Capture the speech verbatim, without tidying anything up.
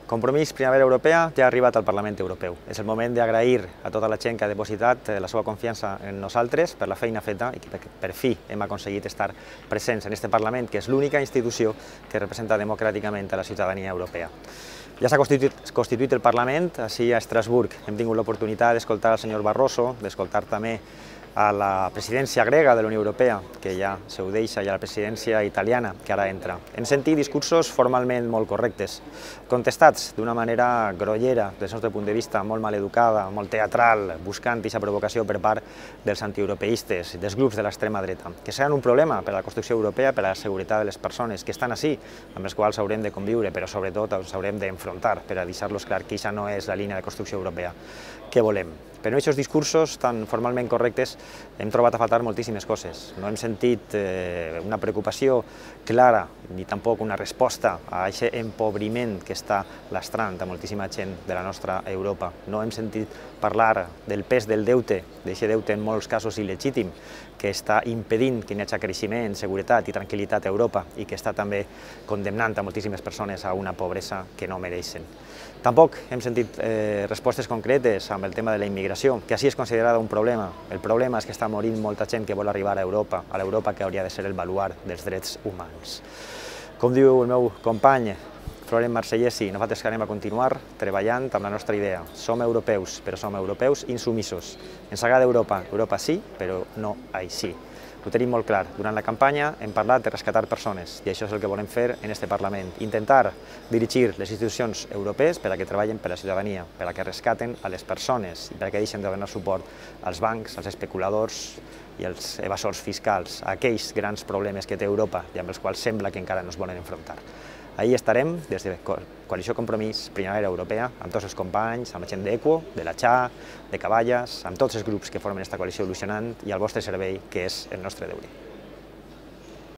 Compromís Primavera Europea ja ha arribat al Parlament Europeu. És el moment d'agrair a tota la gent que ha depositat la seva confiança en nosaltres per la feina feta i que per fi hem aconseguit estar presents en aquest Parlament, que és l'única institució que representa democràticament a la ciutadania europea. Ja s'ha constituït, constituït el Parlament, així a Estrasburg. Hem tingut l'oportunitat d'escoltar el senyor Barroso, d'escoltar també a la presidència grega de la Unió Europea, que ja se ho deixa, i a la presidència italiana, que ara entra. Hem sentit discursos formalment molt correctes, contestats d'una manera grollera, des del nostre punt de vista, molt maleducada, molt teatral, buscant aquesta provocació per part dels antieuropeistes, dels grups de l'extrema dreta, que seran un problema per a la construcció europea, per a la seguretat de les persones que estan ací, amb les quals haurem de conviure, però sobretot ens haurem d'enfrontar per a deixar-los clar que aquesta no és la línia de construcció europea que volem. Però en aquests discursos tan formalment correctes hem trobat a faltar moltíssimes coses. No hem sentit eh, una preocupació clara ni tampoc una resposta a aquest empobriment que està lastrant a moltíssima gent de la nostra Europa. No hem sentit parlar del pes del deute, d'aquest deute en molts casos il·legítim, que està impedint que hi hagi creixement, seguretat i tranquil·litat a Europa i que està també condemnant a moltíssimes persones a una pobresa que no mereixen. Tampoc hem sentit eh, respostes concretes amb el tema de la immigració, que així és considerada un problema. El problema és que està morint molta gent que vol arribar a Europa, a l'Europa que hauria de ser el baluard dels drets humans. Com diu el meu company, Florent Marsellesi, nosaltres que anem a continuar treballant amb la nostra idea. Som europeus, però som europeus insumisos. Ens agrada Europa, Europa sí, però no així. Ho tenim molt clar. Durant la campanya hem parlat de rescatar persones i això és el que volem fer en aquest Parlament. Intentar dirigir les institucions europees per a que treballen per a la ciutadania, per a que rescaten a les persones i per a que deixen de donar suport als bancs, als especuladors i als evasors fiscals, a aquells grans problemes que té Europa i amb els quals sembla que encara no es volen enfrontar. Ahí estarem, des de Coalició Compromís Primavera Europea, amb tots els companys, amb la gent d'Equo, de la X A, de Caballes, amb tots els grups que formen aquesta coalició il·lusionant i al vostre servei, que és el nostre deure.